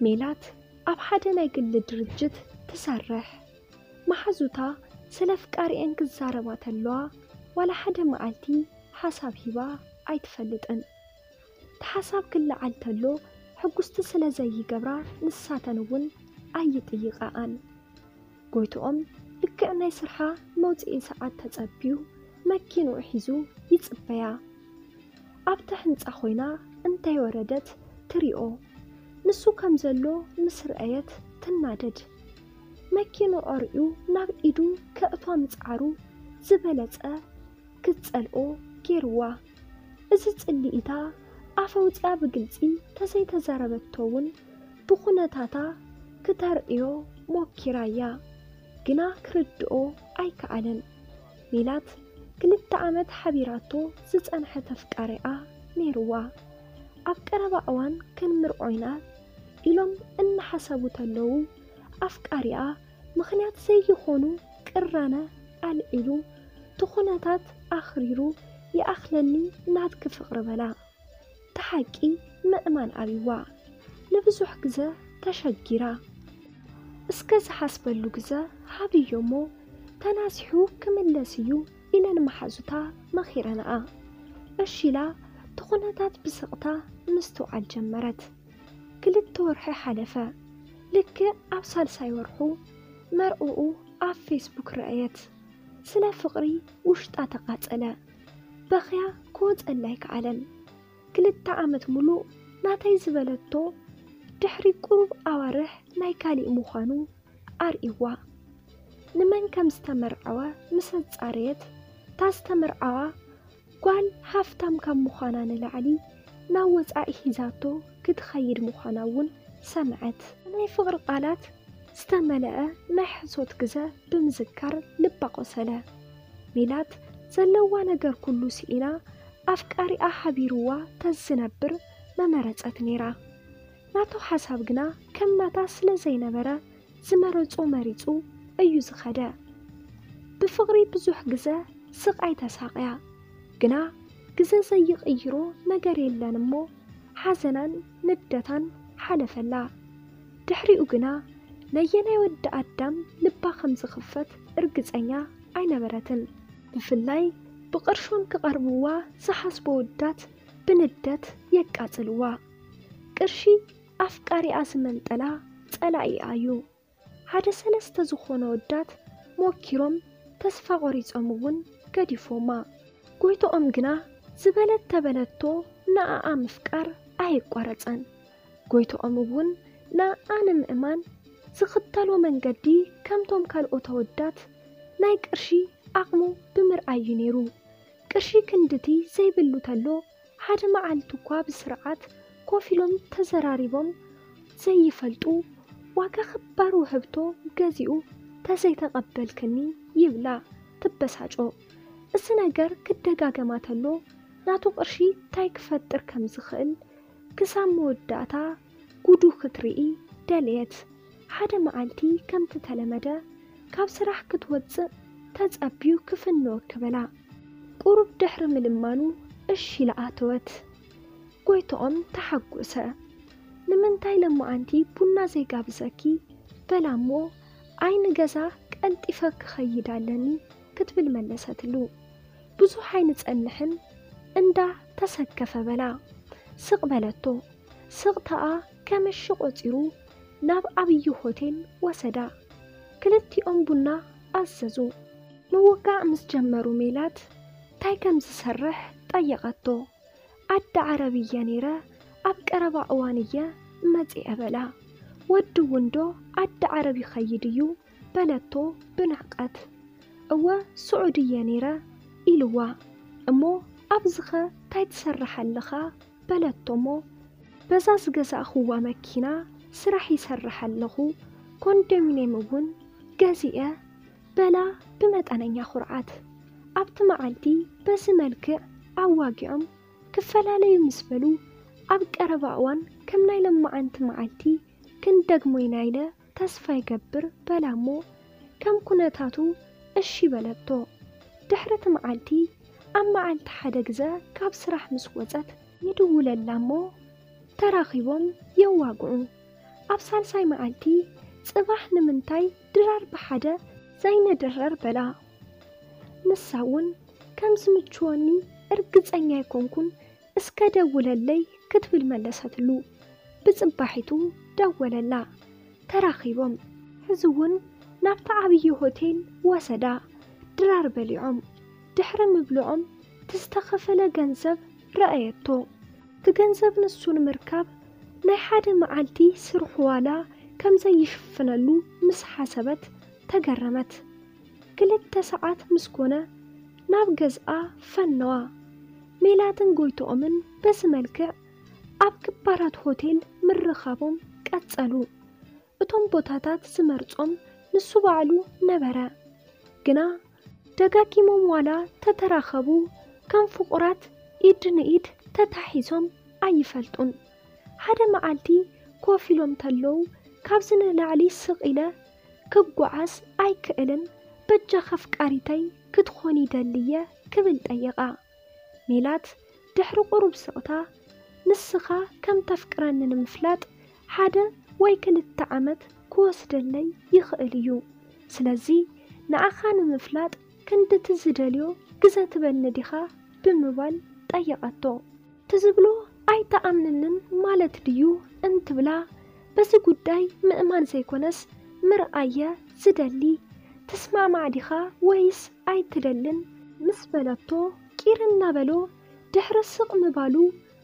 ሜላት ኣብ ሓደ ናይ ግሊ ድርጅት ትሰርሕ። መሓዙታ ስለ ኣፍቃሪኤን ክዛረባ ተለዋ ዋላ ሓደ መዓልቲ ሓሳብ ሂባ ኣይትፈልጥን። እቲ ሓሳብ ክለዓል ተሎ ሕጉስቲ ስለ ዘይገብራ ንሳተን እውን ኣይጥይቐኣን። ጎይትኦም ልክዕ ናይ ስርሓ መውፅኢ ሰዓት ተፀብዩ መኪንኡ ሒዙ ይፅበያ። ኣብታ ህንፃ ኮይና እንተይወረደት ትሪኦ። ንሱ ከም ዘሎ ምስ ረኣየት ትናደድ። መኪንኡ ኣርእዩ ናብ ኢዱ ከእቷ ምፅዓሩ ዝበለፀ ክትፀልኦ ገይርዋ። እዚ ፅልኢታ ኣፍ ኣውፂኣ ብግልፂ ተዘይተዛረበቶ እውን ብኹነታታ ክተርእዮ ሞኪራ እያ፣ ግና ክርድኦ ኣይከኣለን። ሜላት ክልተ ዓመት ሓቢራቶ ዝፀንሐት ኣፍቃሪኣ ነይርዋ። ኣብ ቀረባ እዋን ክንምርዖ ኢና ኢሎም እናሓሰቡ ተለዉ ኣፍቃሪኣ ምኽንያት ዘይኾኑ ቅራነ ኣልዒሉ፣ እቲ ኩነታት ኣኽሪሩ ይኣኽለኒ ናትኪ ፍቕሪ በላ። እቲ ሓቂ ምእማን ኣብይዋ ንብዙሕ ግዘ ተሸጊራ። እስከ ዝሓስበሉ ግዘ ሃብዮ እሞ ተናሲሑ ክምለስ እዩ ኢለን መሓዙታ መኺረንኣ። እሺ ኢላ እቲ ኩነታት ብስቕታ ምስትውዓል ጀመረት። ክልተ ወርሒ ሓለፈ። ልክዕ ኣብ ሳልሳይ ወርሑ መርዕኡ ኣብ ፌስቡክ ረኣየት። ስለ ፍቕሪ ውሽጣ ተቓጸለ። በኽያ ክወጸላ ኣይከኣለን። ክልተ ዓመት ሙሉእ ናተይ ዝበለቶ ድሕሪ ቁሩብ ኣዋርሕ ናይ ካሊእ ምዃኑ ኣርእይዋ። ንመን ከም ዝተመርዐወ ምስ ኣጻረየት፣ እታ ዝተመርዓዋ ጓል ሃፍታም ካብ ምዃና ንላዕሊ ናብ ወጻኢ ሒዛቶ ክትኸይድ ምዃና እውን ሰምዐት። ናይ ፍቕሪ ቃላት ዝተመልአ ናይ ሕሶት ግዘ ብምዝካር ልባ ቆሰለ። ሜላት ዘለዋ ነገር ኩሉ ስኢና ኣፍቃሪኣ ሓቢርዋ ተዝነብር መመረጸት ነይራ። ናቱ ሓሳብ ግና ከም ናታ ስለ ዘይነበረ ዝመረጾ መሪጹ እዩ ዝኸደ። ብፍቕሪ ብዙሕ ግዘ ስቓይ ተሳቕያ፣ ግና ግዘ ዘይቕይሮ ነገር የለን እሞ ሓዘናን ንደታን ሓለፈላ። ድሕሪኡ ግና ነየናይ ወዲ ኣዳም ልባ ከም ዝኽፈት እርግጸኛ ኣይነበረትን። ብፍላይ ብቕርሾም ክቐርብዋ ዝሓስቡ ኣወዳት ብንደት የቃጽልዋ። ቅርሺ ኣፍቃሪኣ ዝመንጠላ ጸላኢኣ እዩ። ሓደ ሰለስተ ዝኾኑ ኣወዳት ሞኪሮም ተስፋ ቆሪጾም እውን ገዲፎማ። ጎይትኦም ግና ዝበለት ተበለቶ ንኣኣ ምፍቃር ኣየቋረጸን። ጎይትኦም እውን ንኣኣ ንምእማን ዝኽተሎ መንገዲ ከምቶም ካልኦት ኣወዳት ናይ ቅርሺ ዓቕሙ ብምርኣይ እዩ ነይሩ። ቅርሺ ክንድቲ ዘይብሉ ተሎ ሓደ መዓልቲ እኳ ብስርዓት ኮፍ ኢሎም ተዘራሪቦም ዘይፈልጡ ዋጋ ክባር ውህብቶ ገዚኡ ተዘይተቐበልክኒ ይብላ ትበሳጮ። እዚ ነገር ክደጋገማ ተሎ ናቱ ቅርሺ እንታይ ክፈጥር ከም ዝኽእል ክሳብ መወዳእታ ጉዱ ክትርኢ ደለየት። ሓደ መዓልቲ ከምቲ ተለመደ ካብ ስራሕ ክትወፅእ ተፀብዩ ክፍንወኪ በላ። ቁሩብ ድሕሪ ምልማኑ እሺ ኢላ ኣተወት። ጎይትኦም ተሓጎሰ። ንምንታይ ለማዓንቲ ቡና ዘይጋብዘኪ በላ እሞ ኣይ ንገዛ ቀልጢፈ ክኸይድ ኣለኒ ክትብል መለሰትሉ። ብዙሕ ኣይንፀንሕን እንዳ ተሰከፈ በላ ስቕ በለቶ። ስቕታኣ ከመሺ ቆፂሩ ናብ ዓብዪ ሆቴል ወሰዳ። ክልቲኦም ቡና ኣዘዙ። ምውጋእ ምስ ጀመሩ ሜላት ታይ ከም ዝሰርሕ ጠየቐቶ። ዓዲ ዓረብ እየ ነይረ፣ ኣብ ቀረባ እዋን እየ መፂአ በላ። ወዲ እውን ዶ ዓዲ ዓረብ ይኸይድ እዩ በለቶ ብንዕቀት። እወ ስዑዲ እየ ነይረ ኢልዋ። እሞ ኣብዚኸ ታይ ትሰርሕ ኣለኻ በለቶ እሞ በዛ ዝገዛእኽዋ መኪና ስራሕ ይሰርሕ ኣለኹ፣ ኮንዶሚንየም እውን ገዚኤ በላ ብመጠነኛ ኩርዓት። ኣብቲ መዓልቲ በዚ መልክዕ ኣዋጊዖም ክፈላለዩ ምስ በሉ ኣብ ቀረባ እዋን ከም ናይ ለማዓንቲ መዓልቲ ክንደግሞ ኢና ኢለ ተስፋ ይገብር በላ እሞ ከም ኩነታቱ እሺ በለቶ። ድሕሪ እቲ መዓልቲ ኣብ መዓልቲ ሓደ ግዘ ካብ ስራሕ ምስ ወፀት ይድውለላ እሞ ተራኺቦም የዋግዑ። ኣብ ሳልሳይ መዓልቲ ጽባሕ ንምንታይ ድራር ብሓደ ዘይንድረር በላ። ንሳ እውን ከም ዝምችወኒ እርግጸኛ ኣይኮንኩን፣ እስከ ደውለለይ ክትብል መለሰትሉ። ብጽባሒቱ ደወለላ። ተራኺቦም። ሕዚ እውን ናብቲ ዓብዪ ሆቴል ወሰዳ። ድራር በሊዖም ድሕሪ ምብልዖም እቲ ዝተኸፈለ ገንዘብ ረኣየቶ። እቲ ገንዘብ ንሱ ንምርካብ ናይ ሓደ መዓልቲ ስርሑ ዋላ ከም ዘይሽፍነሉ ምስ ሓሰበት ተገረመት። ክልተ ሰዓት ምስ ኮነ ናብ ገዝኣ ፈነዋ። ሜላትን ጎይትኦምን በዚ መልክዕ ኣብ ክባራት ሆቴል ምርኻቦም ቀጸሉ። እቶም ቦታታት ዝመርጾም ንሱ ባዕሉ ነበረ። ግና ደጋጊሞም ዋላ ተተራኸቡ፣ ከም ፍቑራት ኢድ ንኢድ ተታሒዞም ኣይፈልጡን። ሓደ መዓልቲ ኮፍ ኢሎም ተለዉ፣ ካብዚ ንላዕሊ ስቕ ኢለ ክጓዓዝ ኣይክእልን፣ በጃኺ ኣፍቃሪተይ ክትኾኒ ደልየ ክብል ጠየቓ። ሜላት ድሕሪ ቁሩብ ስቕታ፣ ንስኻ ከም ተፍቅረኒ ንምፍላጥ ሓደ ወይ ክልተ ዓመት ክወስደለይ ይኽእል እዩ። ስለዚ ንዓኻ ንምፍላጥ ክንድቲ ዝደልዮ ግዘ ትበኒ ዲኻ ብምባል ጠየቐቶ። ትዝብሎ ኣይትኣምንንን ማለት ድዩ እንትብላ፣ በዚ ጉዳይ ምእማን ዘይኮነስ ምርኣየ ዝደሊ፣ ትስማዕማዕ ዲኻ ወይስ ኣይትደልን ምስ በለቶ፣ ቂር እናበሎ ድሕሪ ስቕ ምባሉ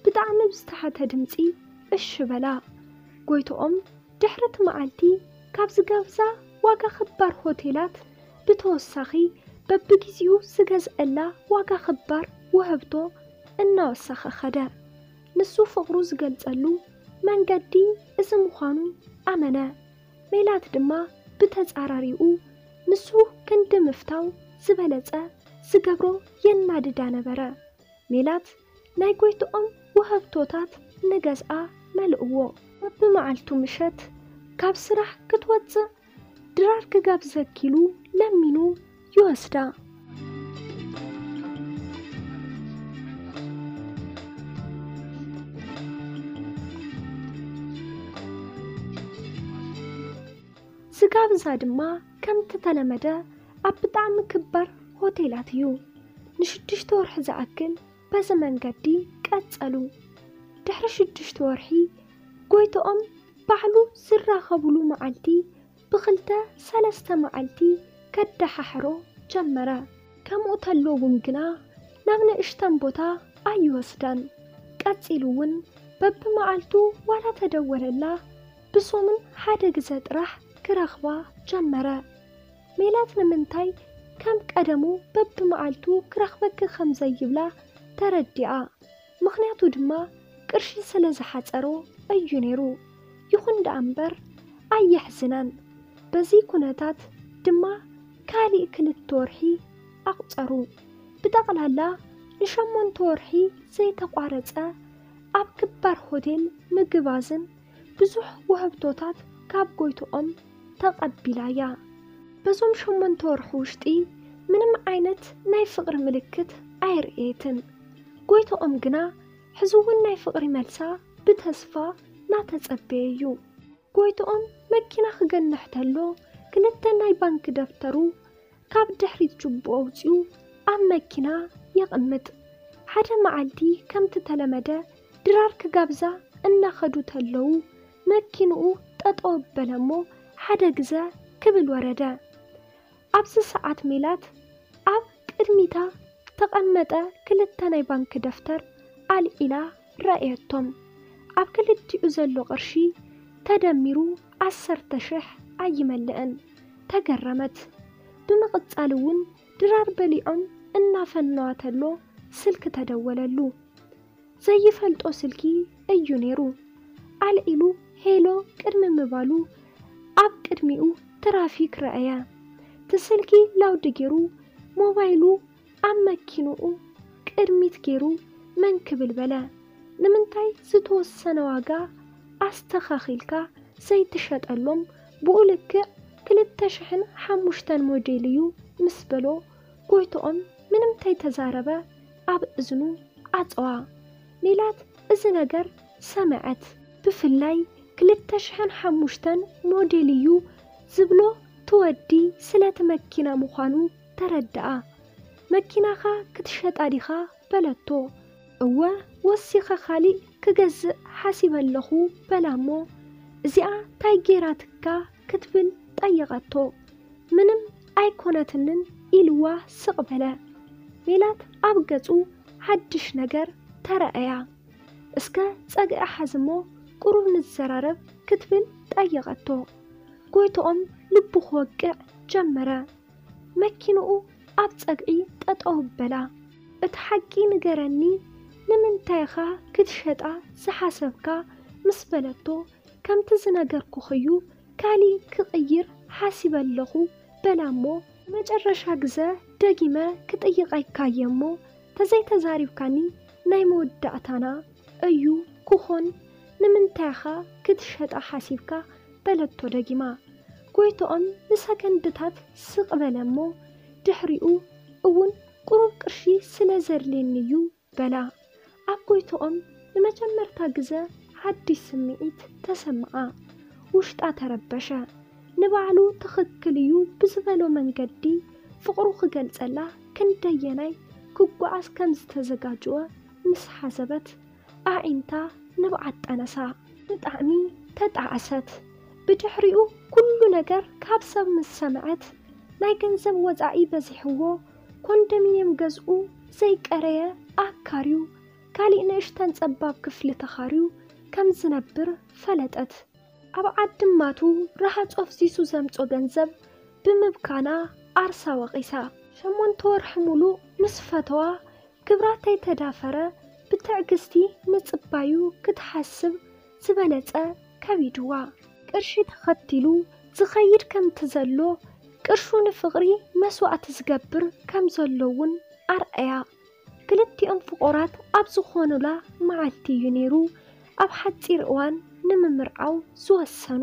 ብጣዕሚ ብዝተሓተ ድምፂ እሺ በላ። ጎይትኦም ድሕሪ እቲ መዓልቲ ካብ ዝጋብዛ ዋጋ ክባር ሆቴላት ብተወሳኺ በብጊዜኡ ዝገዝአላ ዋጋ ክባር ውህብቶ እናወሰኸ ኸደ። ንሱ ፍቕሩ ዝገልጸሉ መንገዲ እዚ ምዃኑ ኣመነ። ሜላት ድማ ብተጻራሪኡ ንሱ ክንዲ ምፍታው ዝበለጸ ዝገብሮ የናድዳ ነበረ። ሜላት ናይ ጎይትኦም ውህብቶታት ንገዝኣ መልእዎ። በብመዓልቱ ምሸት ካብ ስራሕ ክትወጽእ ድራር ክጋብዘኪ ኢሉ ለሚኑ ይወስዳ። ዝጋብዛ ድማ ከምቲ ተለመደ ኣብ ብጣዕሚ ክባር ሆቴላት እዩ። ንሽዱሽተ ወርሒ ዝኣክል በዚ መንገዲ ቀጸሉ። ድሕሪ ሽዱሽተ ወርሒ ጎይትኦም ባዕሉ ዝራኸብሉ መዓልቲ ብኽልተ ሰለስተ መዓልቲ ከደሓሕሮ ጀመረ። ከምኡ ተሎ እውን ግና ናብ ንእሽተን ቦታ ኣይወስዳን። ቀጺሉ እውን በብመዓልቱ ዋላ ተደወለላ ብሶምን ሓደ ግዘ ጥራሕ ክረኽባ ጀመረ። ሜላት ንምንታይ ከም ቀደሙ በብመዓልቱ ክረኽበኪ ከም ዘይብላ ተረዲኣ። ምኽንያቱ ድማ ቅርሺ ስለ ዝሓጸሮ እዩ ነይሩ። ይኹን ደኣ እምበር ኣየሕዝናን። በዚ ኩነታት ድማ ካሊእ ክልተ ወርሒ ኣቑጸሩ። ብጠቕላላ ንሸሞንተ ወርሒ ዘይተቋረጸ ኣብ ክባር ሆቴል ምግባዝን ብዙሕ ውህብቶታት ካብ ጎይትኦም ተቐቢላያ። በዞም ሸሞንተ ወርሒ ውሽጢ ምንም ዓይነት ናይ ፍቕሪ ምልክት ኣይርእየትን። ጎይትኦም ግና ሕዚ እውን ናይ ፍቕሪ መልሳ ብተስፋ ናተጸበየ እዩ። ጎይትኦም መኪና ክገንሕ ተሎ ክልተ ናይ ባንክ ደብተሩ ካብ ድሕሪት ጅቡኡ ኣውጺኡ ኣብ መኪና የቕምጥ። ሓደ መዓልቲ ከምቲ ተለመደ ድራር ክጋብዛ እናኸዱ ተለዉ መኪንኡ ጠጠው በለ እሞ ሓደ ግዘ ክብል ወረደ። ኣብዚ ሰዓት ሜላት ኣብ ቅድሚታ ተቐመጠ ክልተ ናይ ባንክ ደፍተር ኣልዒላ ረኣየቶም። ኣብ ክልቲኡ ዘሎ ቅርሺ ተደሚሩ ዓሰርተ ሽሕ ኣይመልእን። ተገረመት። ብምቕጻል እውን ድራር በሊዖም እናፈነዋ ተሎ ስልኪ ተደወለሉ። ዘይፈልጦ ስልኪ እዩ ነይሩ። ኣልዒሉ ሄሎ ቅድሚ ምባሉ ኣብ ቅድሚኡ ትራፊክ ረኣየ። እቲ ስልኪ ላውድ ገይሩ ሞባይሉ ኣብ መኪንኡ ቅድሚት ገይሩ መን ክብል በለ። ንምንታይ ዝተወሰነ ዋጋ ኣስተኻኺልካ ዘይትሸጠሎም ብኡ ልክዕ ክልተ ሽሕን ሓሙሽተን ሞዴል እዩ ምስ በሎ ጎይትኦም ምንም ተይተዛረበ ኣብ እዝኑ ኣጸዋ። ሜላት እዚ ነገር ሰመዐት። ብፍላይ ክልተ ሽሕን ሓሙሽተን ሞዴል እዩ ዝብሎ ትወዲ ስለቲ መኪና ምዃኑ ተረድኣ። መኪናኻ ክትሸጣ ዲኻ በለቶ። እወ ወሲኸ ካሊእ ክገዝእ ሓሲበ ኣለኹ በላ እሞ እዚኣ ታይ ጌራትካ ክትብል ጠየቐቶ። ምንም ኣይኮነትንን ኢልዋ ስቕ በለ። ሜላት ኣብ ገጹ ሓድሽ ነገር ተረኣያ። እስከ ጸግዒ ሓዝሞ ቁሩብ ንዘራረብ ክትብል ጠየቐቶ። ጎይትኦም ልቡ ክወቅዕ ጀመረ። መኪንኡ ኣብ ጸግዒ ጠጠው በላ። እቲ ሓቂ ንገረኒ ንምንታይ ኢኻ ክትሸጣ ዝሓሰብካ ምስ በለቶ ከምቲ ዝነገርኩኽዩ ካሊእ ክቕይር ሓሲበ ኣለኹ በላ እሞ መጨረሻ ግዘ ደጊመ ክጥይቐካየ እሞ ተዘይተዛሪብካኒ ናይ መወዳእታና እዩ ክኾን ንምንታይ ኢኻ ክትሸጣ ሓሲብካ በለቶ ደጊማ። ጎይትኦም ንሰከንድታት ስቕ በለ እሞ ድሕሪኡ እውን ቁሩብ ቅርሺ ስለ ዘድልየኒ እዩ በላ። ኣብ ጎይትኦም ንመጀመርታ ግዘ ሓድሽ ስምዒት ተሰምዓ። ውሽጣ ተረበሸ። ንባዕሉ ትኽክል እዩ ብዝበሎ መንገዲ ፍቕሩ ክገልጸላ ክንደየናይ ክጓዓዝ ከም ዝተዘጋጀወ ምስ ሓሰበት ኣዒንታ ንብዓት ጠነሳ። ብጣዕሚ ተጣዕሰት። ብድሕሪኡ ኩሉ ነገር ካብ ሰብ ምስ ሰምዐት ናይ ገንዘብ ወጻኢ በዚሕዎ ኮንዶሚንየም ገዝኡ ዘይቀረየ ኣካርዩ ካሊእ ንእሽተን ጸባብ ክፍሊ ተኻርዩ ከም ዝነብር ፈለጠት። ኣብ ዓዲ ማቱ ረሃጽ ኣፍሲሱ ዘምጾ ገንዘብ ብምብካና ዓርሳ ወቒሳ። ሸሞንተ ወርሒ ሙሉእ ምስ ፈተዋ ግብራ ተይተዳፈረ ብትዕግስቲ ምጽባዩ ክትሓስብ ዝበለጸ ከቢድዋ። ቅርሺ ተኸቲሉ ዝኸይድ ከምቲ ዘሎ ቅርሹ ንፍቕሪ መስዋእቲ ዝገብር ከም ዘሎ እውን ኣርኣያ። ክልቲኦም ፍቑራት ኣብ ዝኾኑላ መዓልቲ እዩ ነይሩ ኣብ ሓጺር እዋን ንምምርዓው ዝወሰኑ።